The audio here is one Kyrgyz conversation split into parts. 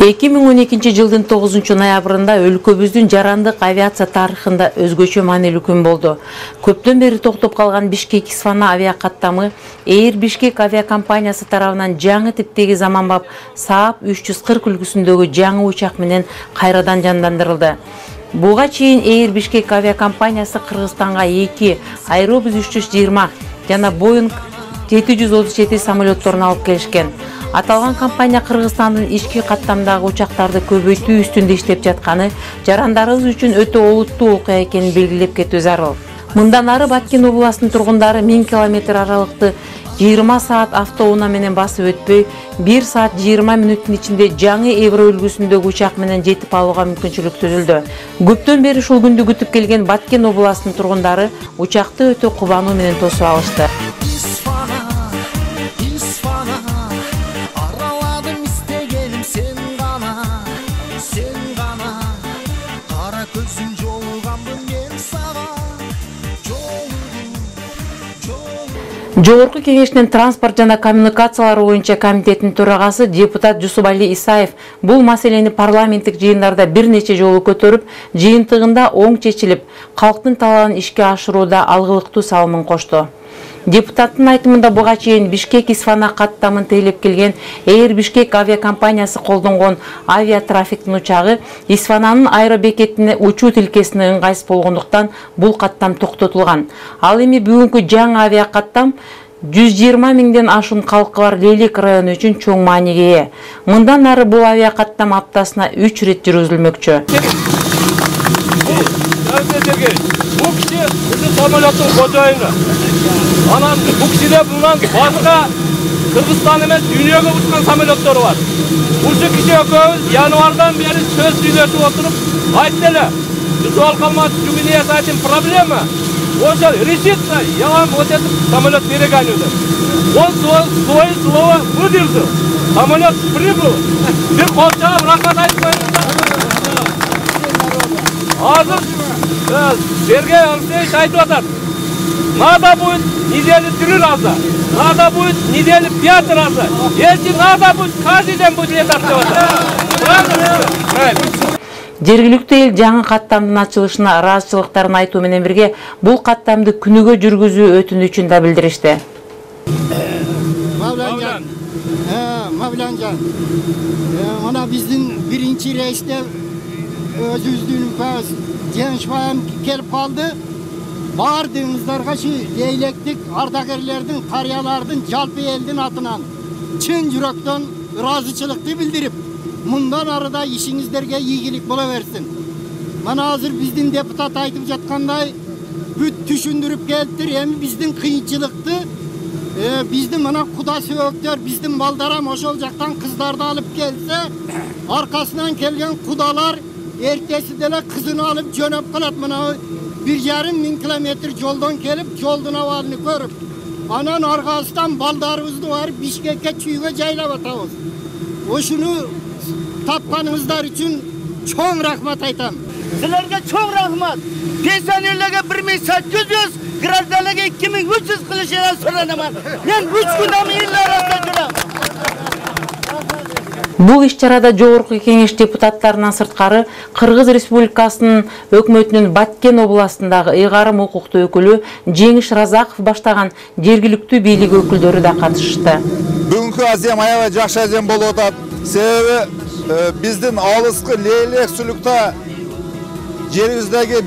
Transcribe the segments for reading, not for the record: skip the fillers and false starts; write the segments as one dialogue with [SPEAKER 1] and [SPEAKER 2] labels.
[SPEAKER 1] 2012 жылдын 9 ноябрында өлкөбүздүн жарандык авиация тарыхында өзгөчө маанилүү күн болду. Көптөн бери токтоп калган Бишкек-Исфана авиакаттамы Air Bishkek авиакомпаниясы тарабынан жаңы типтеги заманбап Saab 340 үлгүсүндөгү жаңы учак менен кайрадан жандандырылды. Буга чейин Air Bishkek авиакомпаниясы Кыргызстанга 2 Airbus 320 жана Boeing 737 самолетторун алып келишкен. Аталган компания Кыргызстандын ички каттамдагы учактарды көбөйтүү үстүндө иштеп жатканы жарандарыбыз үчүн өтө олуттуу окуя экенин белгилеп кетүү зарыл. Мындан ары Баткен областынын тургундары 1000 км аралыкты 20 саат автоунаа менен басып өтпөй, 1 саат 20 мүнөттүн ичинде жаңы Эвро үлгүсүндөгү учак менен жетип алууга мүмкүнчүлүк түзүлдү. Көптөн бери ушул күндү күтүп келген Баткен областынын тургундары учакты өтө кубануу менен тосуп алышты. Жогорку кеңештин транспорт жана коммуникациялар боюнча комитетинин төрагасы депутат Жусубали Исаев бул маселени парламенттик жыйындарда бир нече жолу көтөрүп, жыйынтыгында оң чечилип, калктын талабын ишке ашырууда алгылыктуу салымын кошту. Депутаттын айтымында буга чейин Бишкек-Исфана каттамын тейлеп келген Air Bishkek авиакомпаниясы колдонгон авиатрафиктин учагы Исфананын аэробекетине учуу тилкесине ыңгайсыз болгондуктан бул каттам токтотулган. Ал эми бүгүнкү жаңы авиакаттам 120 миңден ашуун калкы бар Лейлек району үчүн чоң мааниге ээ. Мындан ары бул авиакаттам аптасына 3 ирет жүргүзүлмөкчү.
[SPEAKER 2] Bu kişi bizim samolyotun kocayını. Anam bu kişide bulunan başka Kırgızstan emas dünyaya uçkan samolyotları var. Bu kişi ökөбүз yanvardan beri söz söylesip oturup ayttılar. Sual kalmaz çünkü niye zaten problema. Oşa решится, я вам вот этот самолет перегоню. Он свое слово выдержал. Самолет прибыл. Bir kolçağa rahmat aytmayın. Hazır Сергей Алексеевич айтып атат. Надо будет неделю 3 раза, надо будет неделю 5 раза. Если надо будет, каждый день будет летать.
[SPEAKER 1] Жергиликтүү эл жаңы каттамдын ачылышына ыраазычылыктарын айтуу менен бирге бул каттамды күнүгө жүргүзүү өтүнүчүн да билдиришти.
[SPEAKER 3] Mavlancan. Ona bizdin birinci reiste özüzdüğün payız gençbayım kelip kaldı. Bardığımızlarga şu leylektik ardakerlerden, karyalardan, jalpı eldin atınan çın yürekten razıçılıkты bildirip mundan arada işinizlerge iyilik bulaversin. Mana hazır bizdin deputat aytıp jatkanday büt düşündürüp geldir hem bizdin kıyınçılıktı. Bizdin mana kuda söğüktör, bizdin baldaram oşol jaktan kızlarda alıp gelse arkasından kelgen kudalar ertesi dele kızını alıp jönöp kalat mana 1,5 kilometre yoldan kelip yoldun avalını görüp anan arkasından baldarımızdı var Bişkek'e çüğüge jaylap atabız. Oşunu tapkanыңыздар için çoğun rahmat aytam.
[SPEAKER 4] Sizlerge çok rahmat. Pensionerlerge 1.800, grazdalarga 2.300 kılışına soranaman. Ben 3 gündemi illa arasında жүрөм.
[SPEAKER 1] Бул иш-чарада жогорку кеңеш депутаттарынан сырткары Кыргыз Республикасынын өкмөтүнүн Баткен областындагы ыйгарым укуктуу өкүлү Жеңиш Разаков баштаган жергиликтүү бийлик өкүлдөрү да катышты.
[SPEAKER 5] Бүгүнкү азем аябай жакшы азем болуп атат. Себеби биздин алыскы Лейлек сулукта жерибиздеги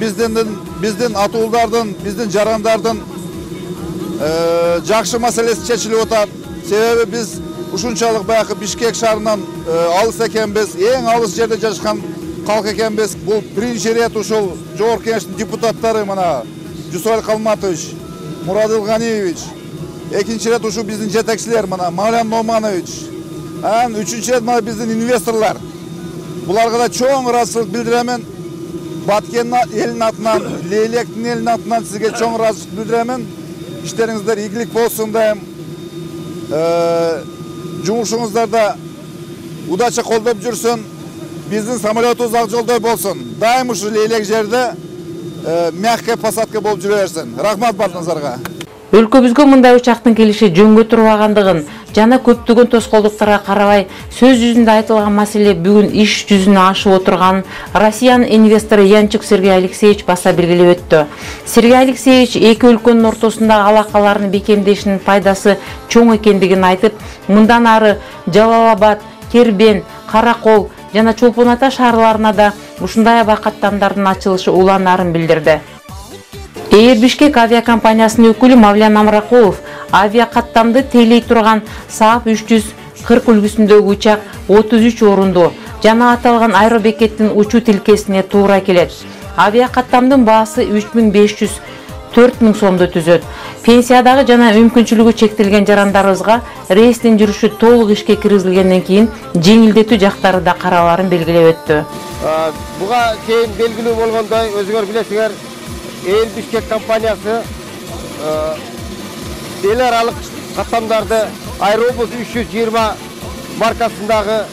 [SPEAKER 5] биздин атуулдардын, биздин жарандардын жакшы маселеси чечилип атат. Себеби биз ушунчалык баягы Бишкек шаарынан алыс экенбиз, эң алыс жерде жашаган калк экенбиз. Бул биринчи рет ушул жогорку кеңештин депутаттары мына Жусуаль Калматович, Мурадыл Ганиевич, экинчи рет ушул биздин жетекчилер мына Мавлян Номанович, анан үчүнчү рет мына биздин инвесторлор. Буларга да чоң ыраазычылык билдиремен. Баткен элинин атынан, Лейлектин элинин атынан сизге чоң ыраазычылык билдиремен. Иштериңиздер ийгилик болсун дайым. Жумушуңуздарда удача колдоп жүрсүн. Биздин самолетубуз ак жолдой болсун. Дайым ушу Лейлек жерде мягкая посадка болуп жүрө берсин. Рахмат бардыгыңыздарга.
[SPEAKER 1] Өлкөбүзгө мындай учактын келиши жөнгө турбагандыгын жана көптөгөн тоскоолдуктарга карабай сөз жүзүндө айтылган маселе бүгүн иш жүзүнө ашып отурганын Россиянын инвестору Янчук Сергей Алексеевич баса белгилеп өттү. Сергей Алексеевич эки өлкөнүн ортосундагы алакалардын бекемдешинин пайдасы чоң экендигин айтып, мындан ары Жалал-Абад, Кербен, Каракол жана Чолпон Ата шаарларына да ушундай абакаттамдардын ачылышы уланаарын билдирди. Эйр Бишкек авиакомпаниясынын өкүлү Мавлян Амракулов авиакаттамды тейлей турган Saab 340 үлгүсүндөгү учак 33 орунду жана аталган аэробекеттин учуу тилкесине туура келет. Авиакаттамдын баасы 3500–4000 сомду түзөт. Пенсиядагы жана мүмкүнчүлүгү чектелген жарандарыбызга рейстин жүрүшү толук ишке киргизилгенден кийин жеңилдетүү жактары да караларын белгилеп өттү.
[SPEAKER 6] Буга чейин белгилүү болгондой, өзүңөр билесиңер, Эйр Бишкек компаниясы эл аралык каттамдарды Аэробус 320 маркасындагы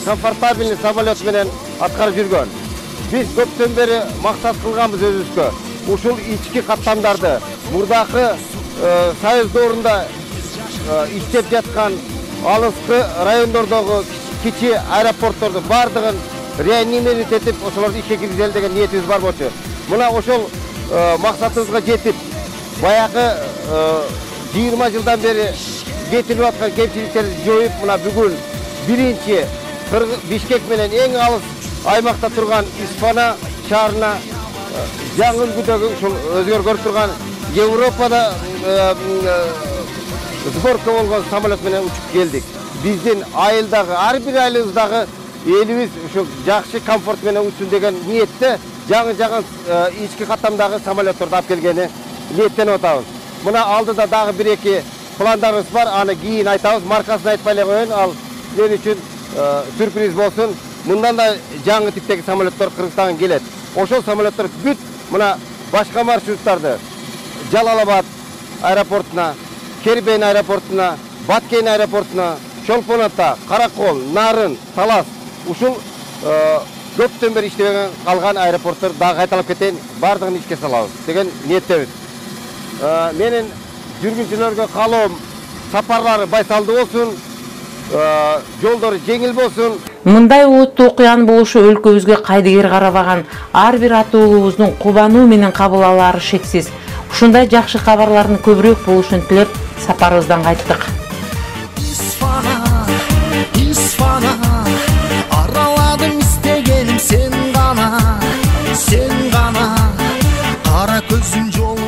[SPEAKER 6] комфортабельный самолет менен аткарып жүргөн. Биз көптөн бери максат кылганбыз өзүбүзгө. Ушул ички каттамдарды мурдакы Союз доорунда иштеп жаткан алыскы райондордогу кичи аэропортторду бардыгын реанимировать этип, ошолорду ишке киргизели деген ниетибиз бар болчу. Мына ошол максатыбызга жетип, баягы 20 жылдан бери кетирип аткан кемчиликтерди жоюп, мына бүгүн биринчи Бишкек менен эң алыс аймакта турган Испана шаарына жаңы үлгүдөгү ушул өзгөр көрүп турган Европада сборка болгон самолет менен учуп келдик. Биздин айылдагы, ар бир айылыбыздагы элибиз ушул жакшы комфорт менен учсун деген ниетте жаңы ички каттамдагы самолетторду алып келгени ниеттенип атабыз. Мына алдыда дагы бир-эки пландарыбыз бар, аны кийин айтабыз. Маркасын айтпай эле коеюн, ал мен үчүн сюрприз болсун. Мындан да жаңы типтеги самолеттор Кыргызстанга келет. Ошол самолеттор бүт мына башка маршруттарды Жалал-Абад аэропортуна, Кербен аэропортуна, Баткен аэропортуна, Чолпон Ата, Каракол, Нарын, Талас ушул көптөн бери иштебеген калган аэропорттор дагы кайталап кетейин, бардыгын ишке салабыз деген ниеттебиз. Менин жүргүнчүлөргө каалоом сапарлары байсалдуу болсун, жолдору жеңил болсун.
[SPEAKER 1] Мындай oottуу окуянын болушу өлкөбүзгө кайдыгер карабаган ар бир ата уулубуздун кубануу менен кабыл алаары шексиз. Ушундай жакшы кабарлардын көбүрөөк болушун тилеп, сапарыбыздан кайттык.
[SPEAKER 7] Isfana araладым istегеним sen гана, кара көзүң жол